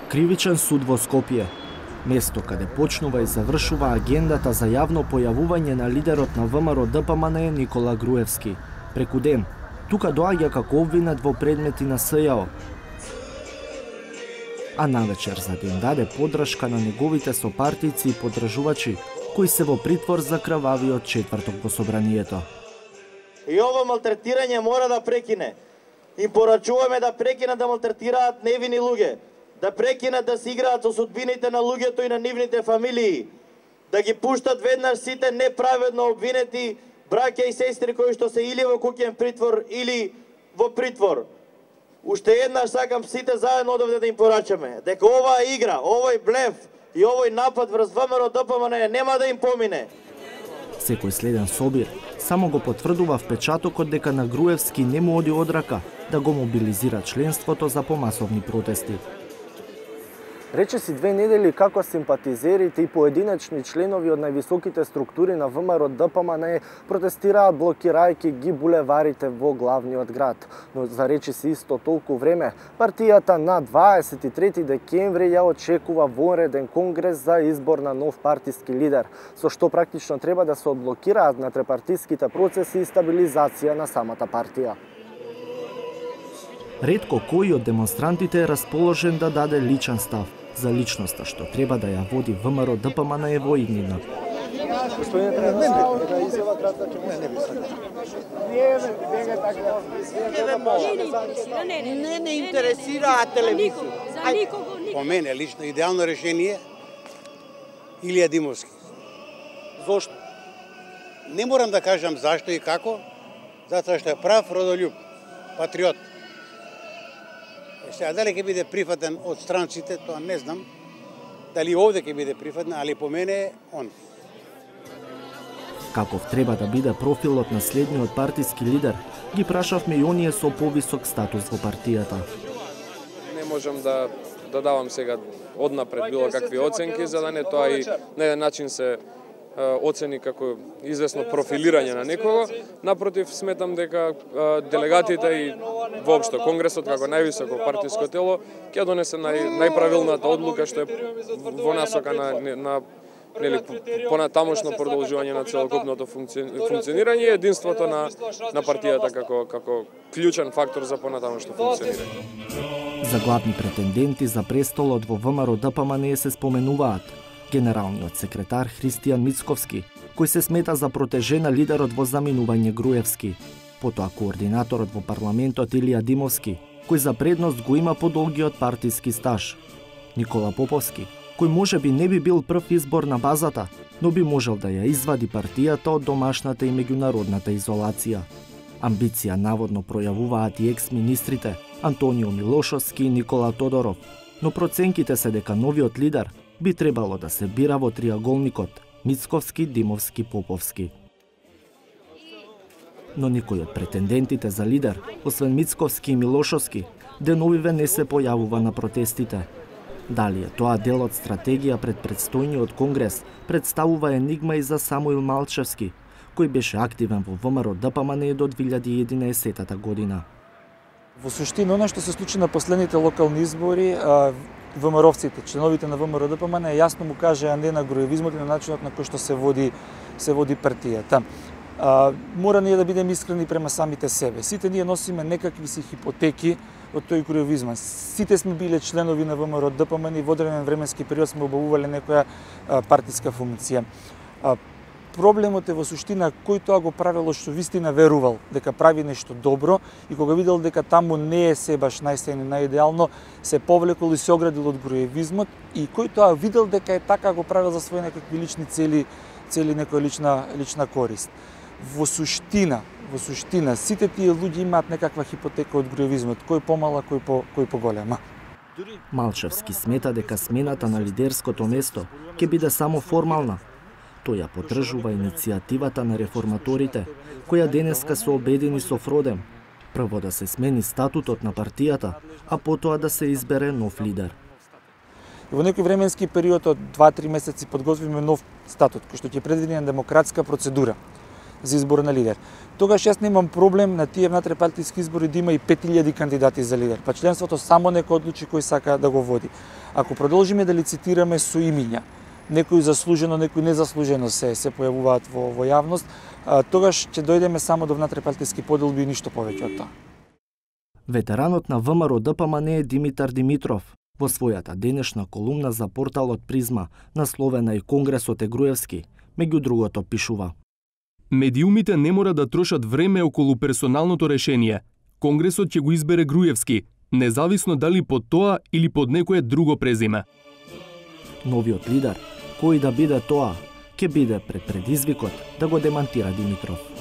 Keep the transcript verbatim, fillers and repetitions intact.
Кривичен суд во Скопје, место каде почнува и завршува агендата за јавно појавување на лидерот на ВМРО Д П М Н Никола Груевски. Преку ден, тука доаѓа како обвинет во предмети на С Ј О. А навечер за да им даде подршка на неговите сопартици и подржувачи, кои се во притвор за крвавиот четврток во собранието. И ова малтретирање мора да прекине. Им порачуваме да прекинат да малтретираат невини луѓе, да прекинат да се играат со судбините на луѓето и на нивните фамилии, да ги пуштат веднаш сите неправедно обвинети браќа и сестри кои што се или во куќен притвор или во притвор. Уште еднаш сакам сите заедно одовде да им порачаме дека оваа игра, овој блеф и овој напад врз ВМРО Д П М Н нема да им помине. Секој следен собир само го потврдува впечатокот дека на Груевски не му оди од рака да го мобилизира членството за помасовни протести. Речиси две недели како симпатизерите и поединечни членови од највисоките структури на ВМРО Д П М Н протестираат блокирајќи ги булеварите во главниот град. Но за речиси исто толку време, партијата на дваесет и трети декември ја очекува вонреден конгрес за избор на нов партиски лидер, со што практично треба да се одблокираат натрепартиските процеси и стабилизација на самата партија. Ретко кој од демонстрантите е расположен да даде личен став за личноста што треба да ја води ВМРО Д П М Н во иднина. Господине председател, да изјава кратка ќе не би сакал. Не не интересираат телевизија. За никого, никого. По мене лично идеално решение Илија Димовски. Зошто? Не морам да кажам зашто и како, затоа што е прав родолюб, патриот. Сега, дали ќе биде прифатен од странците, тоа не знам. Дали овде ќе биде прифатен, али по мене е он. Каков треба да биде профилот на следниот партиски лидер, ги прашавме и оние со повисок статус во партијата. Не можам да, да давам сега однапред било какви оценки, за да не тоа и на еден начин се оцени како известно профилирање на некого. Напротив, сметам дека делегатите и воопшто Конгресот како највисоко партиско тело ќе донесе нај, најправилната одлука што е во насока на, на нели понатамошно продолжување на целокупното функционирање и единството на на партијата како како клучен фактор за понатамошно функционирање. За главни претенденти за престолот во ВМРО Д П М Н се споменуваат генералниот секретар Христијан Мицковски, кој се смета за протежена лидерот во заминување Груевски, потоа координаторот во парламентот Илија Димовски, кој за предност го има подолгиот партиски стаж, Никола Поповски, кој можеби не би бил прв избор на базата, но би можел да ја извади партијата од домашната и меѓународната изолација. Амбиција наводно пројавуваат и екс-министрите Антонио Милошовски и Никола Тодоров, но проценките се дека новиот лидер би требало да се бира во триаголникот Мицковски, Димовски, Поповски. Но никој од претендентите за лидер, освен Мицковски и Милошовски, деновиве не се појавува на протестите. Дали е тоа дел од стратегија пред предстојниот конгрес, представува енигма и за Самуил Малчевски, кој беше активен во ВМРО Д П М Н до две илјади и единаесета година. Во суштина, она што се случи на последните локални избори, ВМРО-вците, членовите на ВМРО Д П М Н јасно му кажаа не на груевизмот и на начинот на кој што се води се води партијата. А, мора ние да бидеме искрени према самите себе. Сите ние носиме некакви си хипотеки од тој груевизма. Сите сме биле членови на ВМРО Д П М Н и во одреден временски период сме обавувале некоја а, партиска функција. А, Проблемот е во суштина кој тоа го правело што вистина верувал дека прави нешто добро и кога видел дека таму не е се баш најсејно најидеално, се повлекол и се оградил од груевизмот и кој тоа видел дека е така го правил за своји некакви лични цели, цели некоја лична лична корист. Во суштина, во суштина сите тие луѓе имаат некаква хипотека од груевизмот, кој помала, кој по кој поголема. Малчевски смета дека смената на лидерското место ќе биде само формална. Тој ја поддржува иницијативата на реформаторите, која денеска се обедини со Фродем. Прво да се смени статутот на партијата, а потоа да се избере нов лидер. Во некој временски период од два-три месеци подготвиме нов статут, кој што ќе предвиди демократска процедура. за избор на лидер. Тогаш јас немам проблем на тие внатрепартиски избори да има и пет илјади кандидати за лидер. Па членството само некој одлучи кој сака да го води. Ако продолжиме да лицитираме со имиња, некои заслужено, некои незаслужено се се појавуваат во во јавност, а, тогаш ќе дојдеме само до внатрепартиски поделби и ништо повеќе од тоа. Ветеранот на ВМРО Д П М Н Димитар Димитров во својата денешна колумна за порталот Призма, насловена и Конгресот е Груевски, меѓу другото пишува: Медиумите не мора да трошат време околу персоналното решение. Конгресот ќе го избере Груевски, независно дали под тоа или под некое друго презиме. Новиот лидер, кој да биде тоа, ќе биде пред предизвикот да го демантира Димитров.